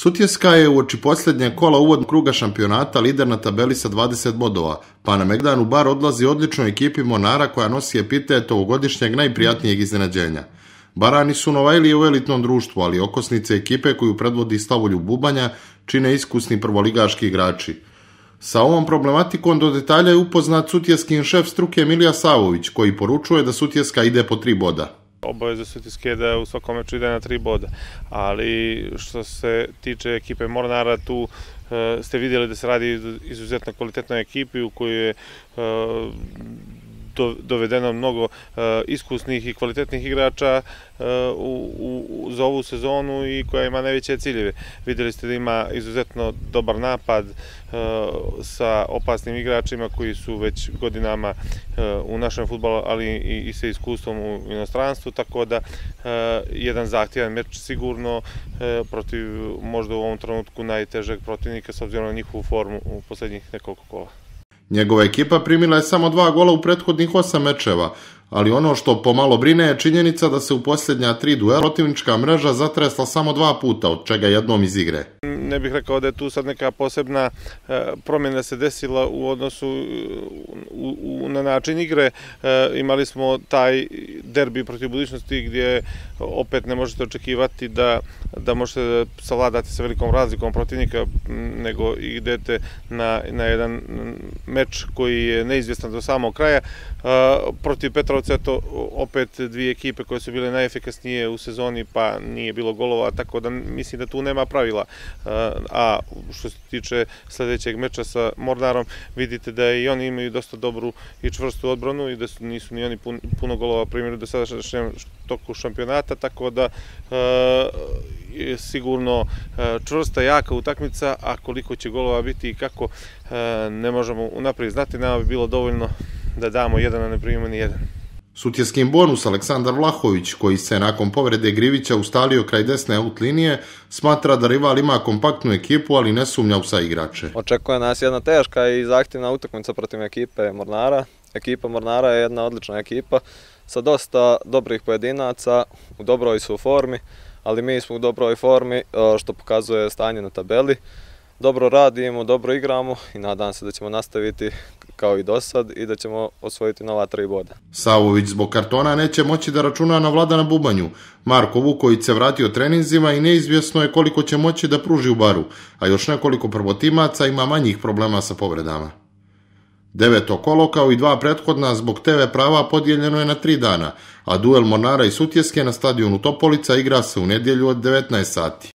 Sutjeska je uoči posljednjeg kola uvodnog kruga šampionata lider na tabeli sa 20 bodova, pa na Megdan u Bar odlazi odličnoj ekipi Mornara koja nosi epitet ovogodišnjeg najprijatnijeg iznenađenja. Barani su novajlije u elitnom društvu, ali okosnice ekipe koju predvodi Slavoljub Bubanja čine iskusni prvoligaški igrači. Sa ovom problematikom do detalja je upoznat sutjeskin šef struke Milija Savović, koji poručuje da Sutjeska ide po 3 boda. Obaveza Sutjeske je da u svakom meču ide na 3 boda, ali što se tiče ekipe Mornara, tu ste vidjeli da se radi izuzetno kvalitetnoj ekipi u kojoj je dovedeno mnogo iskusnih i kvalitetnih igrača za ovu sezonu i koja ima najveće ciljeve. Vidjeli ste da ima izuzetno dobar napad sa opasnim igračima koji su već godinama u našem fudbalu, ali i sa iskustvom u inostranstvu, tako da jedan zahtjevan meč sigurno protiv možda u ovom trenutku najtežeg protivnika s obzirom na njihovu formu u posljednjih nekoliko kola. Njegova ekipa primila je samo 2 gola u prethodnih 8 mečeva, ali ono što pomalo brine je činjenica da se u posljednja 3 duela protivnička mreža zatresla samo 2 puta, od čega jednom iz igre. Ne bih rekao da je tu sad neka posebna promjena se desila u odnosu na način igre. Imali smo taj derbi protiv budućnosti gdje opet ne možete očekivati da možete savladati sa velikom razlikom protivnika, nego idete na jedan meč koji je neizvjestan do samog kraja. Protiv Petrovca to opet 2 ekipe koje su bile najefikasnije u sezoni, pa nije bilo golova, tako da mislim da tu nema pravila. A što se tiče sljedećeg meča sa Mornarom, vidite da i oni imaju dosta dobru i čvrstu odbranu i da nisu ni oni puno golova primili do sadašnjem toku šampionata, tako da je sigurno čvrsta, jaka utakmica, a koliko će golova biti i kako ne možemo unaprijed znati. Nama bi bilo dovoljno da damo 1, a ne primimo ni 1. Sutjeskin bonus Aleksandar Vlahović, koji se nakon povrede Grivića ustalio kraj desne out linije, smatra da rival ima kompaktnu ekipu, ali ne sumnja u saigrače. Očekuje nas jedna teška i zahtjevna utakmica protiv ekipe Mornara. Ekipa Mornara je jedna odlična ekipa sa dosta dobrih pojedinaca, u dobroj su formi, ali mi smo u dobroj formi, što pokazuje stanje na tabeli. Dobro radimo, dobro igramo i nadam se da ćemo nastaviti kao i do sad i da ćemo osvojiti nova 3 boda. Savović zbog kartona neće moći da računa na Vladana Bubanju. Marko Vuković se vratio treninzima i neizvjesno je koliko će moći da pruži u Baru, a još nekoliko prvotimaca ima manjih problema sa povredama. 9. kolo kao i 2 prethodna zbog TV prava podijeljeno je na 3 dana, a duel Mornara i Sutjeske na stadionu Topolica igra se u nedjelju od 19 sati.